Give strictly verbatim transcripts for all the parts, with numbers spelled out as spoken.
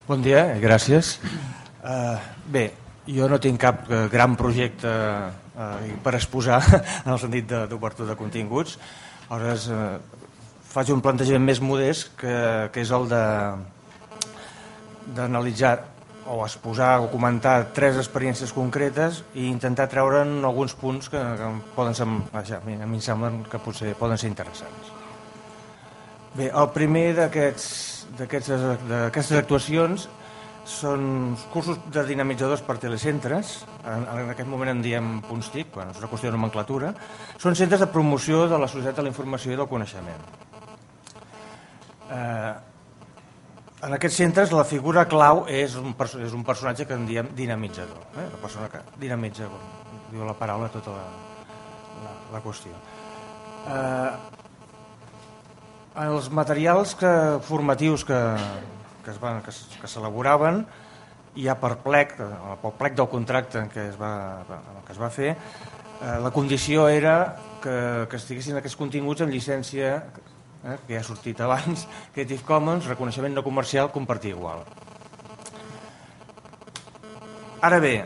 Bon dia i gràcies. Uh, bé, jo no tinc cap gran projecte uh, per exposar en el sentit d'obertura de, de continguts. Aleshores, uh, faig un plantejament més modest que, que és el de d'analitzar o exposar o comentar tres experiències concretes i intentar treure'n alguns punts que, que poden ser, vaja, a mi em semblen que potser poden ser interessants. Bé, el primer d'aquestes actuacions són cursos de dinamitzadors per telecentres, en, en aquest moment en diem punts TIC, bueno, és una qüestió de nomenclatura, són centres de promoció de la societat de la informació i del coneixement. Eh, en aquests centres la figura clau és un, és un personatge que en diem dinamitzador, eh? La persona que dinamitza, diu la paraula, tota la, la, la qüestió. Eh, Els materials que, formatius que, que es van, que, que s'elaboraven ja per plec, pel plec del contracte que es va, que es va fer, eh, la condició era que, que estiguessin aquests continguts en llicència, eh, que ja ha sortit abans, Creative Commons, reconeixement no comercial, compartir igual. Ara bé,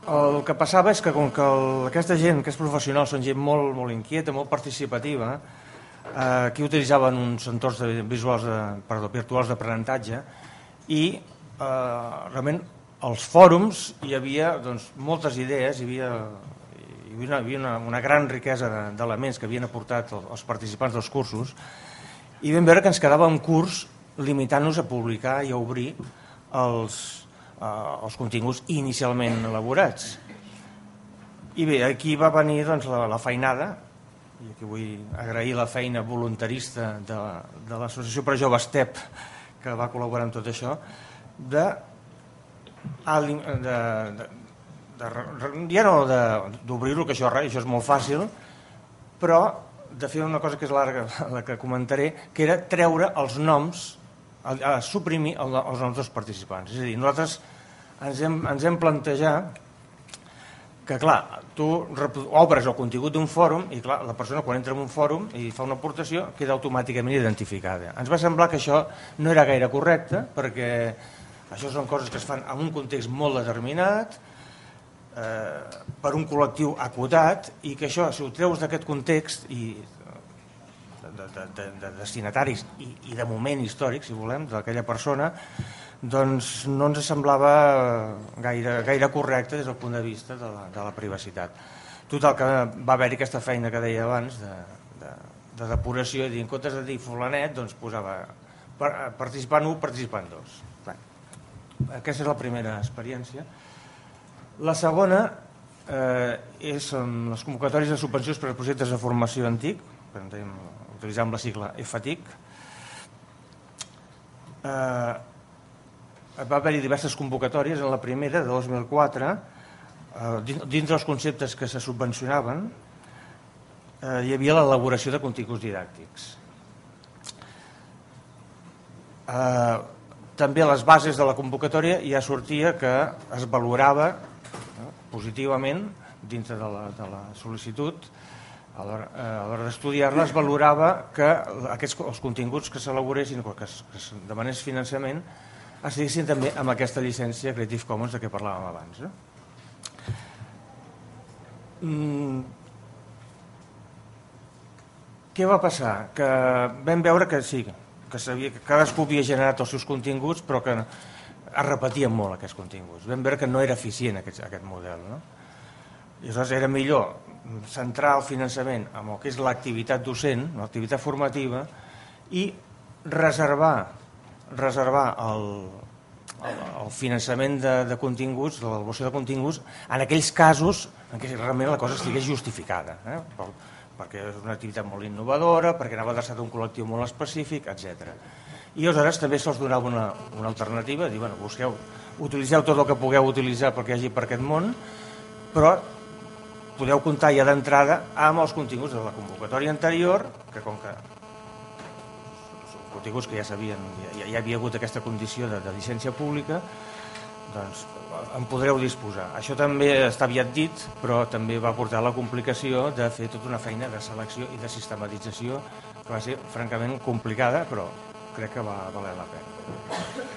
el que passava és que com que el, aquesta gent, aquests professionals són gent molt, molt inquieta, molt participativa, aquí utilitzaven uns entorns de visuals de, perdó, virtuals d'aprenentatge i eh, realment als fòrums hi havia doncs, moltes idees, hi havia, hi havia, una, hi havia una, una gran riquesa d'elements que havien aportat els participants dels cursos i vam veure que ens quedava un curs limitant-nos a publicar i a obrir els, eh, els continguts inicialment elaborats. I bé, aquí va venir doncs, la, la feinada, i aquí vull agrair la feina voluntarista de, de l'Associació per Joves T E P que va col·laborar en tot això de, de, de, de ja no d'obrir-ho, que això, això és molt fàcil, però de fer una cosa que és larga, la que comentaré, que era treure els noms, a suprimir els noms dels participants. És a dir, nosaltres ens hem, ens hem plantejat que, clar, tu obres el contingut d'un fòrum i, clar, la persona quan entra en un fòrum i fa una aportació queda automàticament identificada. Ens va semblar que això no era gaire correcte perquè això són coses que es fan en un context molt determinat, eh, per un col·lectiu acotat i que això, si ho treus d'aquest context i de, de, de, de destinataris i, i de moment històric, si volem, d'aquella persona, doncs no ens semblava gaire, gaire correcte des del punt de vista de la, de la privacitat. Total, que va haver-hi aquesta feina que deia abans de, de, de depuració i en comptes de dir fulanet doncs posava participant u, participant dos. Aquesta és la primera experiència. La segona eh, és les convocatòries de subvencions per a projectes de formació en TIC, utilitzant la sigla F T I C. Eh, va haver-hi diverses convocatòries. En la primera, de dos mil quatre, eh, dins dels conceptes que se subvencionaven eh, hi havia l'elaboració de continguts didàctics. Eh, també a les bases de la convocatòria ja sortia que es valorava eh, positivament dintre de la, de la sol·licitud a l'hora d'estudiar-la, es valorava que aquests, els continguts que s'elaboressin, que es demanés finançament, estiguessin també amb aquesta llicència Creative Commons de què parlàvem abans. Eh? Mm. Què va passar? Que vam veure que sí, que, sabia, que cadascú havia generat els seus continguts, però que es repetien molt aquests continguts. Vam veure que no era eficient aquest, aquest model. No? I aleshores era millor centrar el finançament en el que és l'activitat docent, l'activitat formativa, i reservar reservar el, el, el finançament de, de continguts, de l'elaboració de continguts, en aquells casos en què realment la cosa estigués justificada, eh? per, perquè és una activitat molt innovadora, perquè anava adreçat a un col·lectiu molt específic, etcètera. I aleshores també se'ls donava una, una alternativa, dir, bueno, busqueu, utilitzeu tot el que pugueu utilitzar perquè hi hagi per aquest món, però podeu comptar ja d'entrada amb els continguts de la convocatòria anterior, que com que continguts que ja sabien, ja, ja havia hagut aquesta condició de, de llicència pública, doncs en podreu disposar. Això també està aviat dit, però també va portar la complicació de fer tota una feina de selecció i de sistematització que va ser francament complicada, però crec que va valer la pena.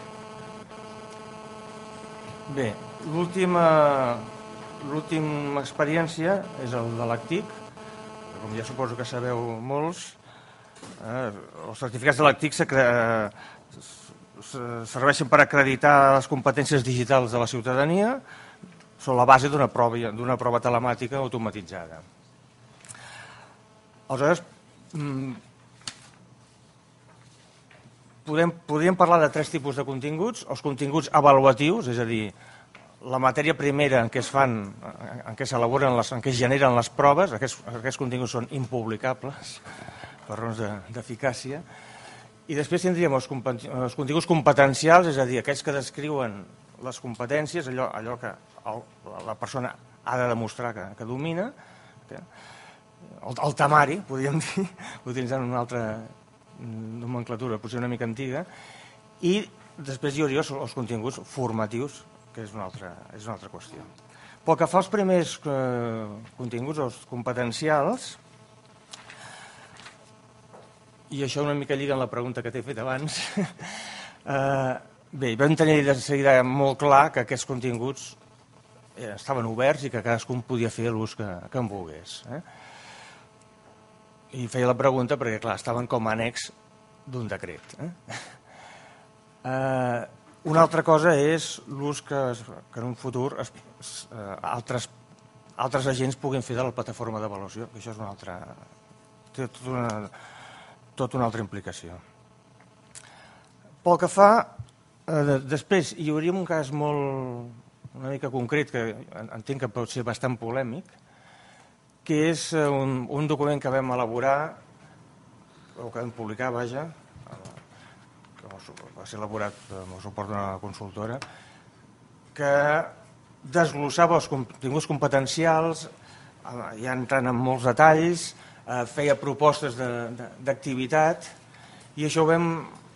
Bé, l'última l'última experiència és el de l'ACTIC, com ja suposo que sabeu molts. Eh, els certificats de l'ACTIC serveixen per acreditar les competències digitals de la ciutadania, són la base d'una prova, d'una prova telemàtica automatitzada. Aleshores, podem, podríem parlar de tres tipus de continguts. Els continguts avaluatius, és a dir, la matèria primera en què es fan, en què s'elaboren, en què es generen les proves, aquests, aquests continguts són impublicables per raons d'eficàcia. I després tindríem els, els continguts competencials, és a dir, aquells que descriuen les competències, allò, allò que el, la persona ha de demostrar que, que domina, que, el, el temari, podríem dir, utilitzant una altra nomenclatura, potser una mica antiga, i després hi hauria els continguts formatius, que és una altra, és una altra qüestió. Pel que fa als primers eh, continguts, els competencials, i això una mica lliga en la pregunta que t'he fet abans, eh, bé, vam tenir de seguida molt clar que aquests continguts eh, estaven oberts i que cadascun podia fer l'ús que, que en volgués. Eh? I feia la pregunta perquè, clar, estaven com a annex d'un decret. Eh? Eh, una altra cosa és l'ús que, que en un futur es, eh, altres, altres agents puguin fer de la plataforma d'avaluació, que això és una altra... té tota una, tota una altra implicació. Pel que fa, eh, després hi hauria un cas molt una mica concret que entenc que pot ser bastant polèmic, que és un, un document que vam elaborar, o que vam publicar, vaja, que va ser elaborat amb el suport d'una consultora, que desglossava els continguts competencials, ja entrant en molts detalls, feia propostes d'activitat, i això ho vam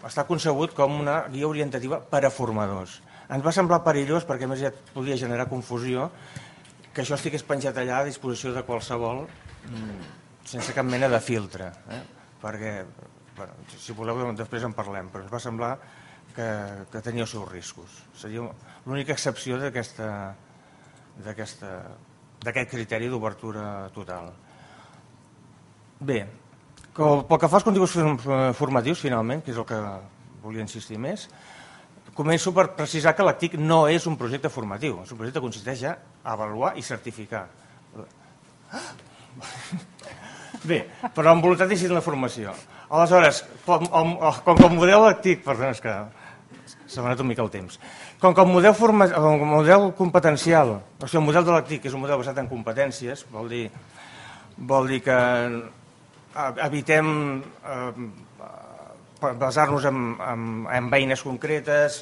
estar concebut com una guia orientativa per a formadors. Ens va semblar perillós perquè a més ja podia generar confusió que això estigués penjat allà a disposició de qualsevol sense cap mena de filtre, eh? Perquè, bueno, si voleu després en parlem, però ens va semblar que, que tenia els seus riscos. Seria l'única excepció d'aquest criteri d'obertura total. Bé, pel que fa als continguts formatius, finalment, que és el que volia insistir més, començo per precisar que l'ACTIC no és un projecte formatiu, és un projecte que consisteix a avaluar i certificar. Bé, però amb voluntat d'incidir en la formació. Aleshores, com que el model ACTIC, perdona, és que s'ha donat una mica el temps, com que el model, forma, el model competencial, o sigui, el model de l'ACTIC és un model basat en competències, vol dir, vol dir que evitem eh, basar-nos en, en, en eines concretes,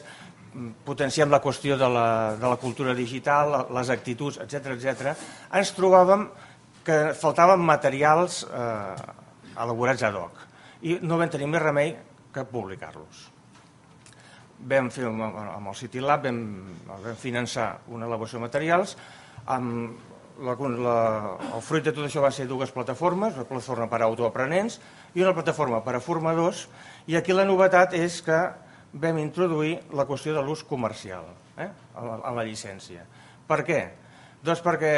potenciem la qüestió de la, de la cultura digital, les actituds, etcètera, etcètera. Ens trobàvem que faltaven materials eh, elaborats ad hoc i no vam tenir més remei que publicar-los. Vam fer amb el CityLab, vam, vam finançar una elaboració de materials, amb La, la, el fruit de tot això van ser dues plataformes, una plataforma per a autoaprenents i una plataforma per a formadors, i aquí la novetat és que vam introduir la qüestió de l'ús comercial eh, a, la, a la llicència. Per què? Doncs perquè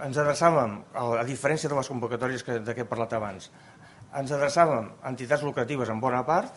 ens adreçàvem, a diferència de les convocatòries que, de què he parlat abans, ens adreçàvem a entitats lucratives en bona part,